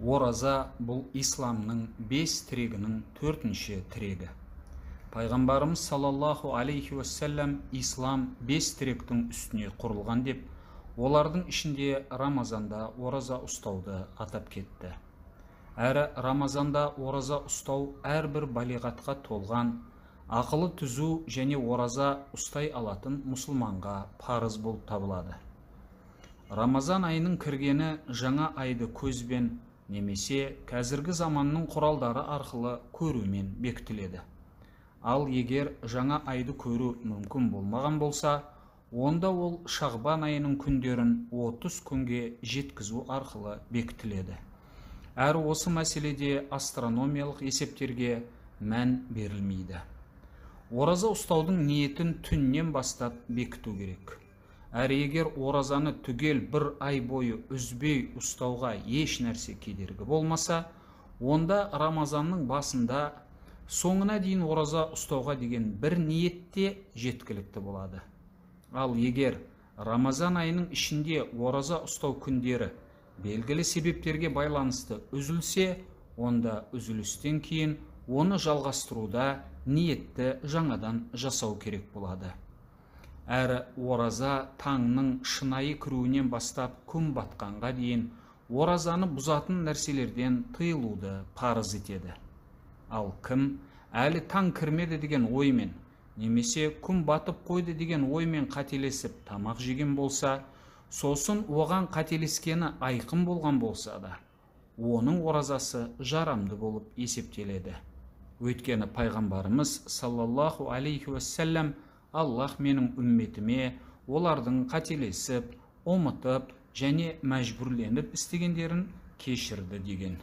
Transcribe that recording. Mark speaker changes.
Speaker 1: Ораза бұл исламның 5 тірегінің 4-ші тірегі. Пайғамбарымыз саллаллаху алейхи уассалам ислам 5 тіректің үстіне құрылған деп, олардың ішінде Рамазанда ораза ұстауды атап кетті. Әрі Рамазанда ораза ұстау әрбір балиғатқа толған, ақылы түзу және ораза ұстай алатын мұсылманға парыз болып табылады. Рамазан айының кіргені жаңа айды көзбен немесе қазіргі заманның құралдары арқылы көрумен бекітіледі. Ал егер жаңа айды көру мүмкін болмаған болса, онда ол Шағбан айының күндерін 30 күнге жеткізу арқылы бекітіледі. Әрі осы мәселеде астрономиялық есептерге мән берілмейді. Ораза ұстаудың ниетін түннен бастап бекіту керек. Әрі егер оразаны түгел бір ай бойы үзбей ұстауға еш нәрсе кедергі болмаса, онда Рамазанның басында соңына дейін ораза ұстауға деген бір ниетте жеткілікті болады. Ал егер Рамазан айының ішінде ораза ұстау күндері белгілі себептерге байланысты үзілсе, онда үзілістен кейін оны жалғастыруда ниетті жаңадан жасау керек болады. Әрі ораза таңның шынайы кіруінен бастап күн батқанға дейін оразаны бұзатын нәрселерден тыйылуды парыз етеді. Ал кім әлі таң кірмеді деген оймен, немесе күн батып қойды деген оймен қателесіп тамақ жеген болса, сосын оған қателескені айқын болған болса да, оның оразасы жарамды болып есептеледі. Өйткені пайғамбарымыз саллаллаху алейхи уассалам Аллах менің үмметіме олардың қателесіп, ұмытып және мәжбүрленіп істегендерін кешірді деген.